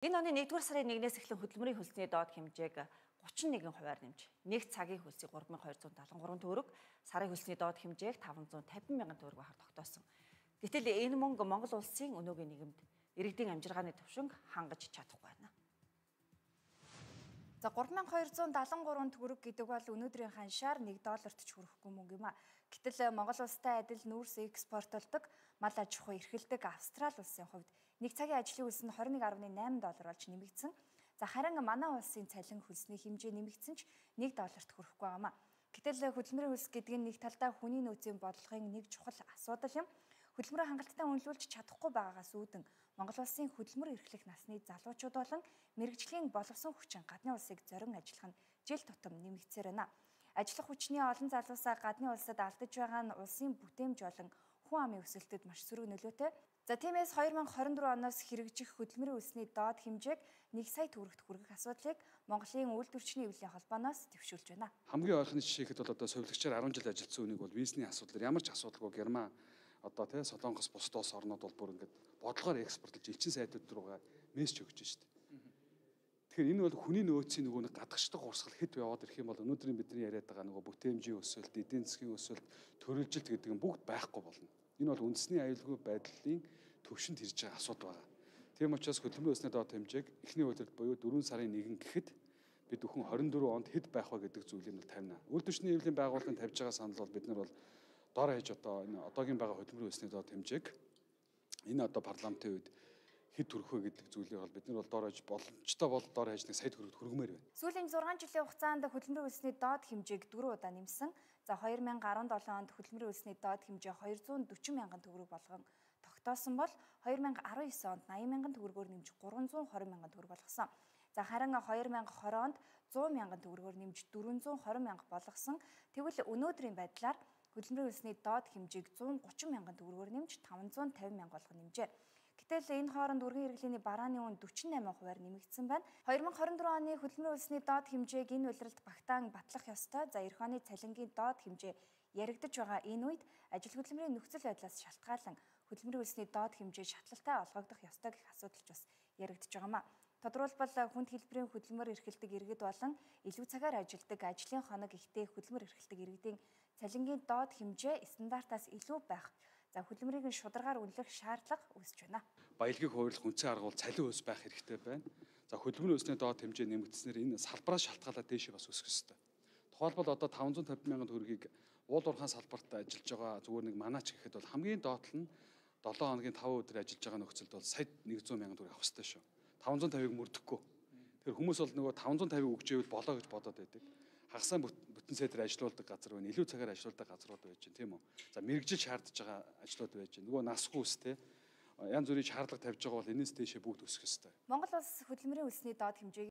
Энэ оны 1-р сарын 1-ээс эхлэн хөдөлмөрийн хөлсний доод хэмжээг 31%-аар нэмж, нэг цагийн хөлсийг 3273 төгрөг, сарын хөлсний доод хэмжээг 550 мянган төгрөг байхаар тогтоосон. Гэтэл энэ мөнгө Монгол улсын өнөөгийн нийгэмд иргэдийн амжиргааны түвшинг хангаж чадахгүй байна. За 3273 төгрөг гэдэг бол өнөөдрийн ханшаар $1-т ч хүрэхгүй мөнгө юм а. Гэтэл Монгол улстай адил нүүрс экспортлдог, мал аж ахуй эрхэлдэг Австрали улсын хувьд нэг цагийн ажлын хөлс нь $21.8 болж нэмэгдсэн. За харин манай улсын цалин хөлсний хэмжээ нэмэгдсэн ч $1-т хүрэхгүй байгаамаа. Гэтэл хөдөлмөрийн хөлс гэдэг нь нэг талдаа хүний нөөцийн бодлогын нэг чухал асуудал юм. Хөдөлмөрөө хангалттай үнэлүүлж чадахгүй байгаагаас үүдэн Монгол улсын хөдөлмөр эрхлэх насны залуучууд болон мэрэгжлийн боловсон хүчин гадны улсыг зорин ажиллах нь жил тутам нэмэгдсээр байна. Ажиллах хүчний олон залуусаа гадны улсад алдаж байгаа нь улсын бүтээмж болон хүн амын өсөлтөд маш сөрөг нөлөөтэй. За тиймээс 2024 оноос хэрэгжих хөдөлмөрийн хөлсний доод хэмжээг 1 сая төгрөгт хүргэх асуудлыг Монголын үйлдвэрчний эвлэлийн холбооноос дэвшүүлж байна. Хамгийн ойрхон жишээхэд бол одоо сувилагчаар 10 жил ажилласан үнийг бол визний асуудлаар ямар ч асуудалгүй Герман одоо тий Солонгос бусад улс орнууд бол бүр ингээд бодлогоор экспортлж элчин сайдууд руугаа мессеж өгч штт. Тэгэхээр энэ бол хүний нөөцийн нөгөө нэг гадагшдаг урсгал хэд яваад ирэх юм бол өнөөдрийн бидний яриад байгаа нөгөө бүтээмжийн өсөлт, эдийн засгийн өсөлт, төрөлжилт гэдэг нь бүгд байхгүй болно. Энэ бол үндэсний аюулгүй байдлын төвшөнд ирж байгаа асуудал байна. Тийм учраас хөдөлмөрийн хөлсний доод хэмжээг эхний үйлдвэрт буюу 4 сарын 1 гэхэд бид бүхэн 24 онд хэд байх вэ гэдэг зүйлийг нь тавина. Үйлдвэрчний эвлэлийн байгууллагын тавьж байгаа санал бол бид нар бол доор хаяж одоо энэ одоогийн байгаа хөдөлмөрийн хөлсний доод хэмжээг энэ одоо парламентын үед хэд төрөх вэ гэдэг зүйлийг бол бид нар бол доор хаяж боломжтой бол доор хаяж 1 сая төгрөгт хүргэмээр байна. Сүүлийн 6 жилийн хугацаанд хөдөлмөрийн хөлсний доод хэмжээг 4 удаа нэмсэн. За 2017 онд хөдөлмөрийн хөлсний доод хэмжээ 240 мянган төгрөг болгон тогтоосон бол 2019 онд 80 мянган төгрөгөөр нэмж 320 мянган төгрөг болгосон. За харин 2020 онд 100 мянган төгрөгөөр нэмж 420 мянга болгосон. Тэгвэл өнөөдрийн байдлаар хөдөлмөрийн хөлсний доод хэмжээг 130 мянган төгрөгөөр нэмж 550 мянга болгон нэмжээ. Гэтэл энэ хооронд үргийн хэрэглээний барааны үн 48%-аар нэмэгдсэн байна. 2024 оны хөдөлмөрийн хөлсний доод хэмжээг энэ улиралд багтаан батлах ёстой. За эх оны цалингийн доод хэмжээ яригдж байгаа энэ үед ажил хөдөлмөрийн нөхцөл байдлаас шалтгаалan хөдөлмөрийн хөлсний доод хэмжээ шатлалтай олгогдох ёстой гэх асуудал ч бас яригдж байгаамаа. Тодорхойлбол хүнд хэлбэрийн хөдөлмөр эрхэлдэг иргэд болон илүү цагаар ажилладаг ажлын хоног ихтэй хөдөлмөр эрхэлдэг иргэдийн цалингийн доод хэмжээ стандартаас илүү байх. За хөдөлмөрийг нь шударгаар үнэлэх шаардлага үүсэж байна. Баялагийг хуваарлах үндсэн арга бол цалин өс байх хэрэгтэй байна. За хөдөлмөрийн хөлсний доод хэмжээ нэмэгдснээр энэ салбараас шалтгаалаад дээшээ бас өсөх ёстой. Тухайлбал одоо 550 мянган төгрөгийг уул уурхайн салбарт ажиллаж байгаа зүгээр нэг манаач гэхэд бол хамгийн доотлол нь 7 хоногийн 5 өдөр ажиллаж байгаа нөхцөлд бол сая 100 мянган төгрөг авах ёстой шүү. 550-ыг мөрдөхгүй. Тэгэхээр хүмүүс бол нөгөө 550-ыг өгчээвэл болоо гэж бодоод байдаг. Хагасаа бүтэн сайдаар ажилуулдаг газар байна. Илүү цагаар ажилуулдаг газрууд байж байна, тийм үү? За мэрэгжил шаардж байгаа ажлууд байж байна. Нөгөө насгүй үстэй янз бүрийн шаардлага тавьж байгаа бол энэс дээшээ бүгд өсөх ёстой. Монгол улс хөдөлмөрийн хөлсний доод хэмжээг